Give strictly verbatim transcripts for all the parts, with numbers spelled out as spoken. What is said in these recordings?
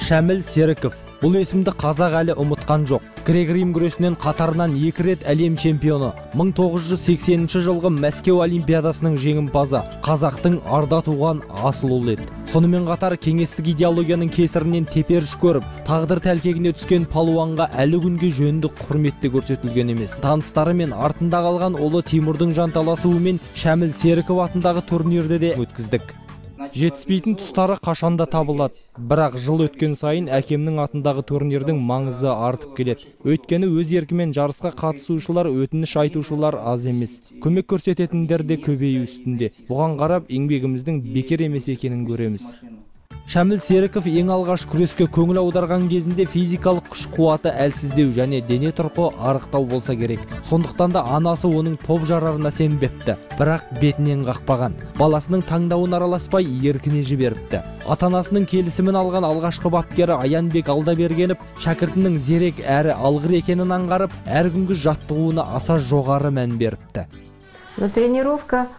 Шәміл Серіков. Бұл есімді қазақ әлі ұмытқан жоқ. Грек-рим күресінен қатарынан екі рет әлем чемпионы, мың тоғыз жүз сексенінші жылғы Мәскеу олимпиадасының жеңімпазы, қазақтың арда туған асыл ұлы еді. Сонымен қатар кеңестік идеологияның кесірінен теперіш көріп, тағдыр тәлкегіне түскен палуанға әлі күнге жөнді құрметте көрсетілген емес. Таныстары мен артында қалған ұлы Тимурдың жанталасуымен Шәміл Серіков атындағы турнирді де өткіздік. Жетіспейтін тұстары қашанда табылады. Бірақ жыл өткен сайын әкемнің атындағы турнирдің маңызы артып келеді. Өйткені өз еркімен жарысқа қатысушылар, өтініш айтушылар аз емес. Көмек көрсететіндер де көбею үстінде. Бұған қарап, еңбегіміздің бекер емес екенін көреміз. Шәміл Серіков ең алғаш күреске көңіл аударған кезінде физикалық күш қуаты әлсіздеу және дене тұрқы арықтау болса керек. Сондықтан да анасы оның топ жарарына сенбепті, бірақ бетінен қақпаған. Баласының таңдауын араласпай еркіне жіберіпті. Ата-анасының келісімін алған алғашқы бапкері Аянбек Алдабергенов шәкіртінің зерек әрі алғыр екенін аңғарып, әр күнгі жаттығуына аса жоғары мән беріпті. Тренировка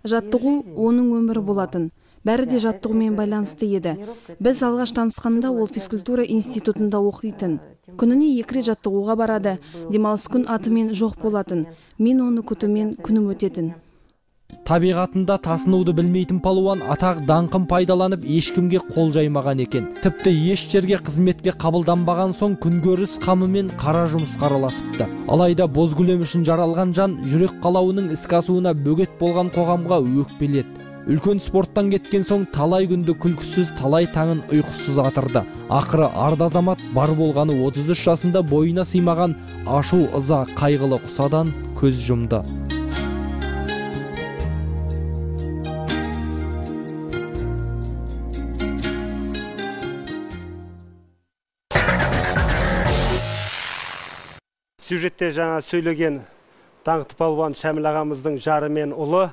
жаттығу оның өмірі болатын. Бәрі де жаттығумен байланысты еді. Біз алғаш танысқанда ол физкультура институтында оқитын. Күніне екі рет жаттығуға барады. Демалыс күн атымен жоқ болатын. Мен оны күтумен күнім өтетін. Табиғатында тасынуды білмейтін палуан атақ даңқын пайдаланып ешкімге қол жаймаған екен. Тіпті еш жерге қызметке қабылданбаған соң күнкөріс қамымен қара жұмысқа араласыпты. Алайда бозгүлем үшін жаралған жан жүрек қалауының іске асуына бөгет болған қоғамға өкпеледі. Үлкен спорттан кеткен соң талай күнді күлкісіз, талай таңын ұйқысыз атырды. Ақыры арда азамат бар болғаны отыз үш жасында бойына сыймаған ашу ыза қайғылы құсадан көз жұмды. Сюжетте жаңа сөйлеген даңқты палуан Шәміл ағамыздың жары мен ұлы.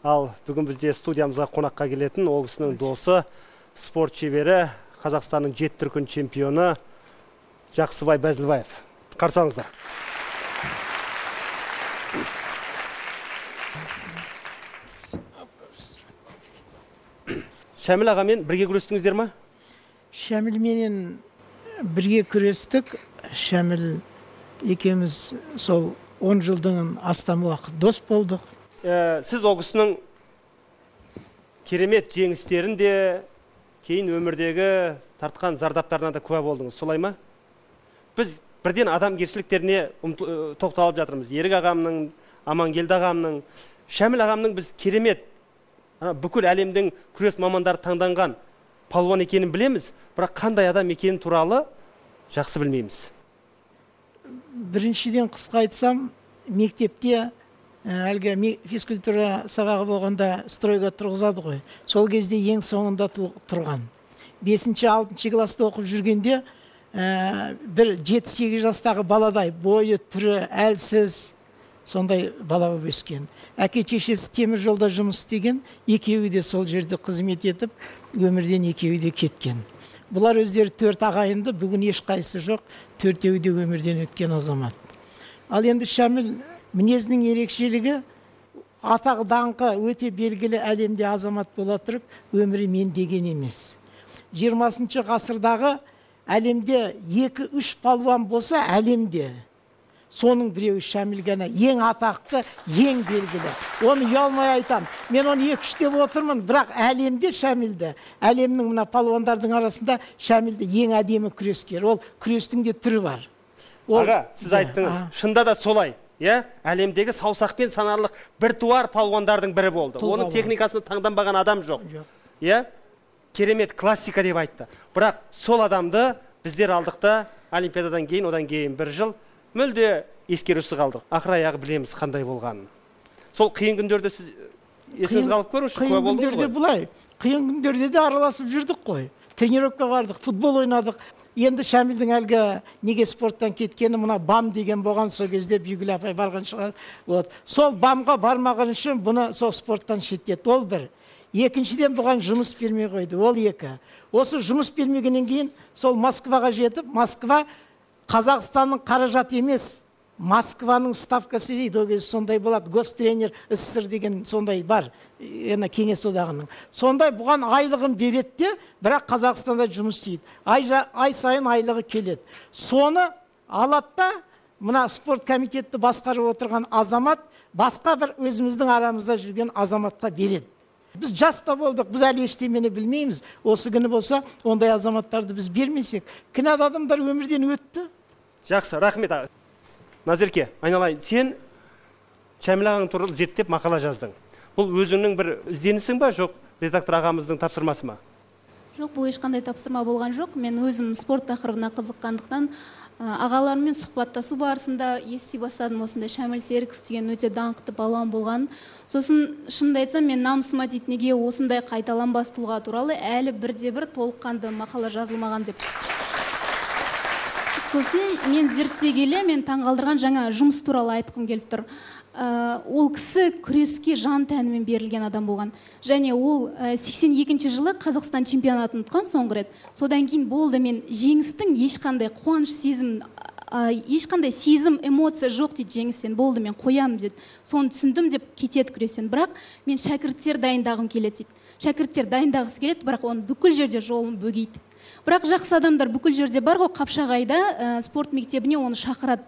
Ал бүгін бізде студиямызға қонаққа келетін ол кісінің досы, спорт шебері, Қазақстанның жеті дүркін чемпионы Жақсыбай Бәзілбаев. Қарсаңыздар. Шәміл ағамен бірге күрестіңіздер ма? Шәміл менен бірге күрестік. Шәміл екеуміз сол он жылдың астам уақыт дос болдық. Сіз ол кісінің керемет жеңістерін де, кейін өмірдегі тартқан зардаптарына да куә болдыңыз, солай ма? Біз бірден адамгершіліктеріне тоқталып жатырмыз. Ерік ағамның, Амангелді ағамның, Шәміл ағамның біз керемет бүкіл әлемдің күрес мамандары таңданған палуан екенін білеміз, бірақ қандай адам екенін туралы жақсы білмейміз. Біріншіден қысқа айтсам, мектепте әлгі физкультура сабағы болғанда стройға тұрғызады ғой. Сол кезде ең соңында тұрған. бесінші алтыншы класста оқып жүргенде бір жеті сегіз жастағы баладай бойы түрі әлсіз сондай бала болып өскен. Әке шешесі темір жолда жұмыс істеген, екеуі де сол жерде қызмет етіп, өмірден екеуі де кеткен. Бұлар өздері төрт ағайынды, бүгін ешқайсысы жоқ, төртеуі де өмірден өткен азамат. Ал енді Шәміл мінезінің ерекшелігі, атақ даңқы өте белгілі әлемде азамат бола тұрып, өмірі мен деген емес. жиырмасыншы ғасырдағы әлемде екі үш палуан болса әлемде, соның біреуі Шәміл ғана ең атақты, ең белгілі. Оны ұялмай айтам. Мен оны екі үш деп отырмын, бірақ әлемде Шәмілді, әлемнің мына палуандардың арасында Шәмілді ең әдемі күрескер. Ол күрестің де түрі бар. Аға, сіз айттыңыз, шында да солай. Әлемдегі саусақпен санарлық бір туар палуандардың бірі болды. Оның техникасını таңданбаған адам жоқ. Керемет классика деп айтты. Бірақ сол адамды біздер алдықта олимпиададан кейін, одан кейін бір жыл мүлде ескерусіз қалдық. Ақыр аяғы білеміз қандай болғанын. Сол қиын күндерде сіз есіңіз қалып көріңізші, куә болдыңыз ғой? Бұлай, қиын күндерде де араласып жүрдік қой. Тренировка бардық, футбол ойнадық. Енді Шәмілдің әлгі неге спорттан кеткені мына бам деген болған, сол кезде Бүйгүл апай барған шығар. Сол бамға бармаған үшін бұны сол спорттан шеттетті. Ол бір. Екіншіден бұған жұмыс бермей қойды. Ол екі. Осы жұмыс бермегеннен кейін сол Москваға жетіп, Москва Қазақстанның қаражат емес, Москваның ставкасы дейді, ол кезде сондай болады, гостренер СССР деген сондай бар, ена кеңес одағының. Сондай бұған айлығын береді де, бірақ Қазақстанда жұмыс істейді. Ай, ай сайын айлығы келеді. Соны алады да, мына спорт комитетті басқарып отырған азамат, басқа бір өзіміздің арамызда жүрген азаматқа береді. Біз жаста болдық, біз әлі ештемені білмейміз. Осы күні болса, ондай азаматтарды біз бермесек, кінәлі адамдар өмірден өтті. Жақсы, рахмет. Назерке, айналайын, сен Шәміл ағаң туралы зерттеп мақала жаздың. Бұл өзіңнің бір ізденісің ба, жоқ, редактор ағамыздың тапсырмасы ма? Жоқ, бұл ешқандай тапсырма болған жоқ. Мен өзім спорт тақырыбына қызыққандықтан ағаларыммен сұхбаттасу барысында ести бастадым, осындай Шәміл Серіков деген өте даңқты балуан болған. Сосын шынымды айтсам, мен намысыма дейді, неге осындай қайталанбас тұлға туралы әлі бірде-бір толыққанды мақала жазылмаған деп. Сосын мен зерттей келе, мен таңғалдырған жаңа жұмыс туралы айтқым келіп тұр. Ол кісі күреске жан тәнімен берілген адам болған. Және ол сексен екінші жылы Қазақстан чемпионатын ұтқан соңғы рет. Содан кейін болды, мен жеңістің ешқандай қуаныш сезім, ешқандай сезім, эмоция жоқ дейді жеңістен. Болды, мен қоямын деді. Соны түсіндім деп кетеді күрестен. Бірақ мен шәкірттер дайындағым келеді дейді. Шәкірттер дайындағысы келеді, бірақ оны бүкіл жерде жолын бөгейді. Бірақ жақсы адамдар бүкіл жерде бар ғой, Қапшағайда спорт мектебіне оны шақырады.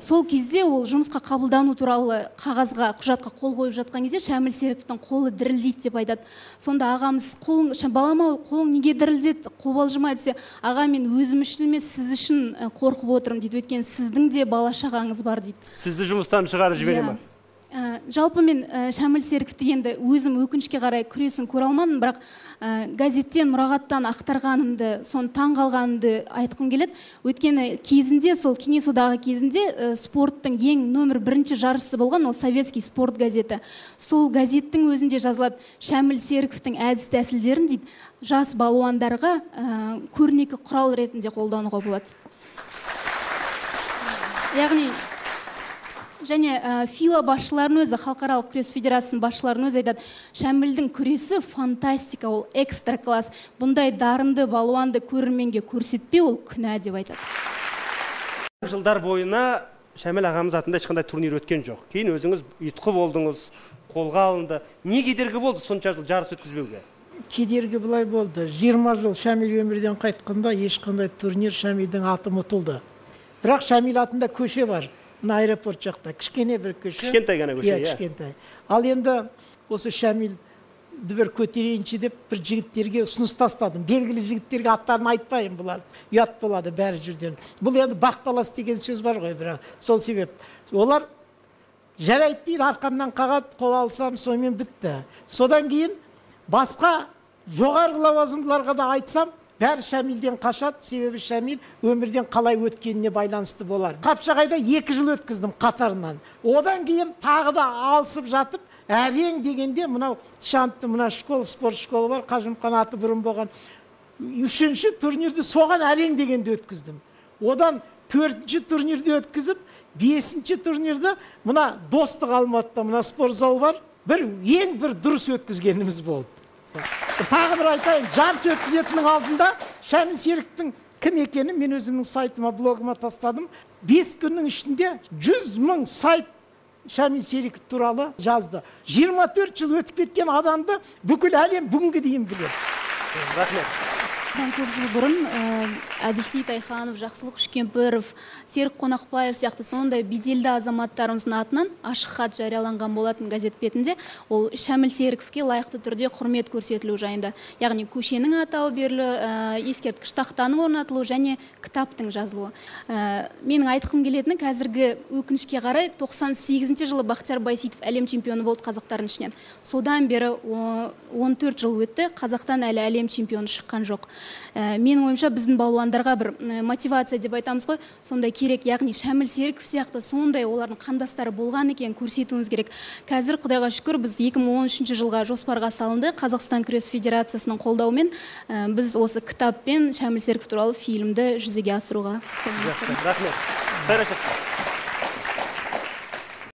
Сол кезде ол жұмысқа қабылдану туралы қағазға, құжатқа қол қойып жатқан кезде Шәміл Серіковтің қолы дірілдейді деп айтады. Сонда ағамыз, қолың, балама, қолың неге дірілдеді, қобалжымай десе, аға, мен өзім үшін емес, сіз үшін қорқып отырмын дейді. Өйткені сіздің де бала шағаңыз бар дейді. Сізді жұмыстан шығарып жібере ме? Жалпы мен Шәміл Серіковті енді өзім өкінішке қарай күресін көре алмадым, бірақ газеттен, мұрағаттан ақтарғанымды, соны таң қалғанымды айтқым келеді. Өйткені кезінде, сол кеңес одағы кезінде спорттың ең нөмір бірінші жарысы болған, ол советский спорт газеті. Сол газеттің өзінде жазылады, Шәміл Серіковтің әдіс тәсілдерін дейді, жас балуандарға көрнекі құрал ретінде қолдануға болады. Яғни және фила басшыларын өзі, халықаралық күрес федерациясының басшыларын өзі айтады, Шәмілдің күресі фантастика, ол экстра класс. Бұндай дарынды балуанды көрерменге көрсетпе, ол күнә деп айтады. Жылдар бойына Шәміл ағамыз атында ешқандай турнир өткен жоқ. Кейін өзіңіз ұйытқы болдыңыз, қолға алынды. Не кедергі болды сонша жыл жарыс өткізбеуге? Кедергі былай болды. жиырма жыл Шәміл өмірден қайтқанда ешқандай турнир Шәмілдің аты ұмытылды. Бірақ Шәміл атында көше бар. Аэропорт жақта, кішкене бір көше. Кішкентай ғана көше, иә. Кішкентай. Ал енді осы Шәмілді бір көтерейінші деп бір жігіттерге ұсыныс тастадым. Белгілі жігіттерге аттарын айтпайын, бұлар ұят болады бәрі жүрден. Бұл енді бақталас деген сөз бар ғой, бірақ сол себеп. Олар жарайды дейді, арқамнан қағат, қол алсам, сонымен бітті. Содан кейін басқа жоғарғы лауазымдыларға да айтсам, бәрі Шәмілден қашады, себебі Шәміл өмірден қалай өткеніне байланысты болар. Қапшағайда екі жыл өткіздім қатарынан. Одан кейін тағы да алысып жатып, әрең дегенде мынау Шантты, мына школ, спорт школы бар, Қажымқан аты бұрын болған. Үшінші турнирді соған әрең дегенде өткіздім. Одан төртінші турнирді өткізіп, бесінші турнирді мына Достық Алматыда, мына спорт залы бар, бір ең бір дұрыс өткізгеніміз болды. Тағы бір айтайын, жарыс өткізетінің алдында Шәміл Серіковтің кім екенін мен өзімнің сайтыма, блогыма тастадым. бес күннің ішінде жүз мың сайт Шәміл Серіков туралы жазды. жиырма төрт жыл өтіп кеткен адамды бүкіл әлем бүгінгі дейін біледі. Рахмет. Мен көп жыл бұрын Әбілсейіт Айханов, Жақсылық Үшкемпіров, Серік Қонақбаев сияқты сондай беделді азаматтарымыздың атынан ашық хат жарияланған болатын газет бетінде. Ол Шәміл Серіковке лайықты түрде құрмет көрсетілу жайында. Яғни көшенің атауы берілу, ескерткіш тақтаның орнатылуы және кітаптың жазылуы. Менің айтқым келетіні, қазіргі өкінішке қарай тоқсан сегізінші жылы Бақтияр Байсейітов әлем чемпионы болды қазақтардың ішінен. Содан бері он төрт жыл өтті, Қазақтан әлі әлем чемпионы шыққан жоқ. Менің ойымша біздің балуандарға бір мотивация деп айтамыз ғой, сондай керек. Яғни Шәміл Серіков сияқты сондай олардың қандастары болған екен көрсетуіміз керек. Қазір Құдайға шүкір біз екі мың он үшінші жылға жоспарға салынды. Қазақстан күрес федерациясының қолдауымен біз осы кітаппен Шәміл Серіков туралы фильмді жүзеге асыруға. Рахмет.